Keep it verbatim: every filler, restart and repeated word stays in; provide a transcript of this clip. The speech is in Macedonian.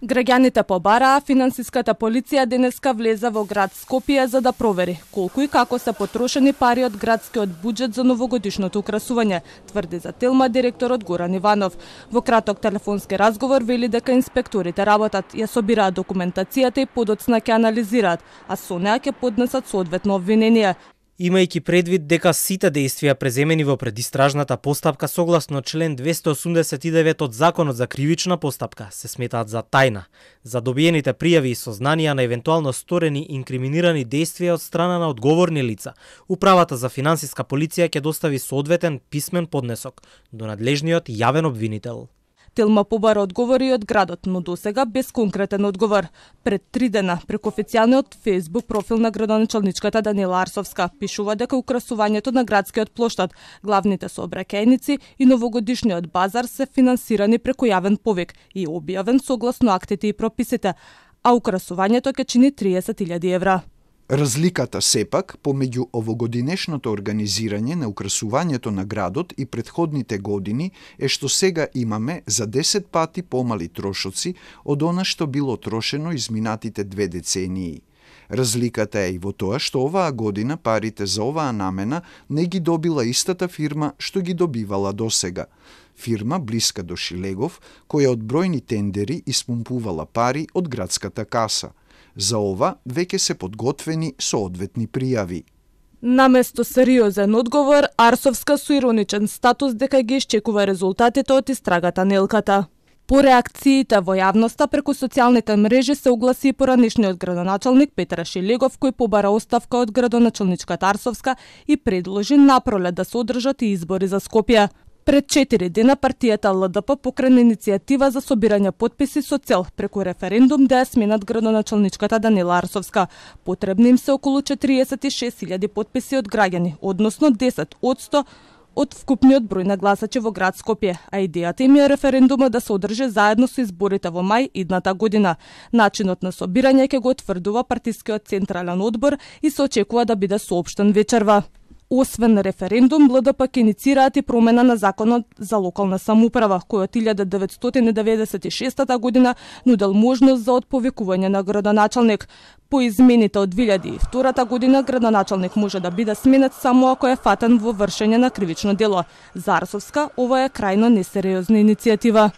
Граѓаните побараа финансиската полиција денеска влеза во град Скопје за да провери колку и како се потрошени пари од градскиот буџет за новогодишното украсување, тврди за Телма директорот Горан Иванов. Во краток телефонски разговор вели дека инспекторите работат, ја собираат документацијата и подоцна ќе анализираат, а со неа ќе поднесат соодветно обвинение. Имајќи предвид дека сите действија преземени во предистражната постапка согласно член двесте осумдесет и девет од Законот за кривична постапка се сметаат за тајна. За добиените пријави и сознанија на евентуално сторени инкриминирани действија од страна на одговорни лица, Управата за финансиска полиција ќе достави соодветен писмен поднесок до надлежниот јавен обвинител. Телма побара одговори од градот, но досега без конкретен одговор. Пред три дена, преку официјалниот Facebook профил на градоначалничката Данила Арсовска, пишува дека украсувањето на градскиот плоштад, главните сообраќајници и новогодишниот базар се финансирани преку јавен повик и објавен согласно актите и прописите, а украсувањето ќе чини триесет илјади евра. Разликата сепак помеѓу овогодинешното организирање на украсувањето на градот и претходните години е што сега имаме за десет пати помали трошоци од она што било трошено изминатите две децении. Разликата е и во тоа што оваа година парите за оваа намена не ги добила истата фирма што ги добивала досега. Фирма блиска до Шилегов, која од бројни тендери испумпувала пари од градската каса. За ова веќе се подготвени соодветни пријави. Наместо сериозен одговор, Арсовска со ироничен статус дека ги исчекува резултатите од истрагата на Елката. По реакциите во јавноста преку социјалните мрежи се огласи и поранешниот градоначалник Петар Шилегов, кој побара оставка од градоначалничката Арсовска и предложи напролет да се одржат и избори за Скопје. Пред четири дена партијата Л Д П покрена иницијатива за собирање потписи со цел преку референдум да ја сменат градоначалничката Данила Арсовска. Потребни им се околу четириесет и шест илјади потписи од граѓани, односно десет одсто од вкупниот број на гласачи во град Скопје, а идејата им е референдумот да се одржи заедно со изборите во мај идната година. Начинот на собирање ќе го утврдува партискиот централен одбор и се очекува да биде соопштен вечерва. Освен референдум, Л Д П ќе иницираат и промена на Законот за локална самоуправа, кој од илјада деветстотини деветдесет и шеста година нудел можност за отповикување на градоначалник. По измените од две илјади и втора година градоначалник може да биде сменет само ако е фатен во вршење на кривично дело. За Арсовска ова е крајно несериозна иницијатива.